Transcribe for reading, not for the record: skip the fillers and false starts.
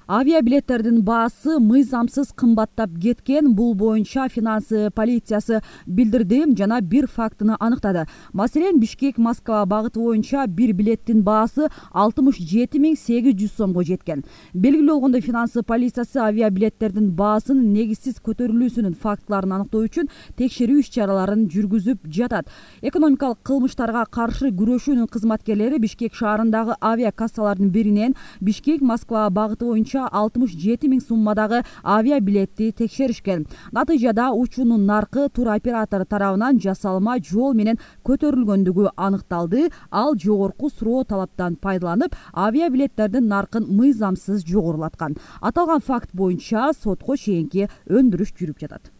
Авиабилеттердин баасы мыйзамсыз кымбаттап кеткен. Бул боюнча финанс полициясы билдирди жана бир фактыны аныктады. Маселен, Бишкек-Москва багыты боюнча бир билеттин баасы 67.800 сомго жеткен. Белгилүү болгондой, финанс полициясы авиабилеттердин баасын негизсиз көтөрүлүүсүнүн фактыларын аныктоо үчүн текшерүү иш-чараларын жүргүзүп жатат. Экономикалык кылмыштарга каршы күрөшүүнүн кызматкерлери Бишкек шаарындагы авиакассалардын биринен Бишкек-Москва багыты боюнча 67.000 суммадагы авиабилетти текшеришкен. Натыйжада учуунун наркы туроператор тарабынан жасалма жол менен көтөрүлгөндүгү аныкталды. Ал жогорку суроо талаптан пайдаланып, авиабилеттердин наркын мыйзамсыз жогорулаткан. Аталган факт боюнча сотко чейинки өндүрүш жүрүп жатат.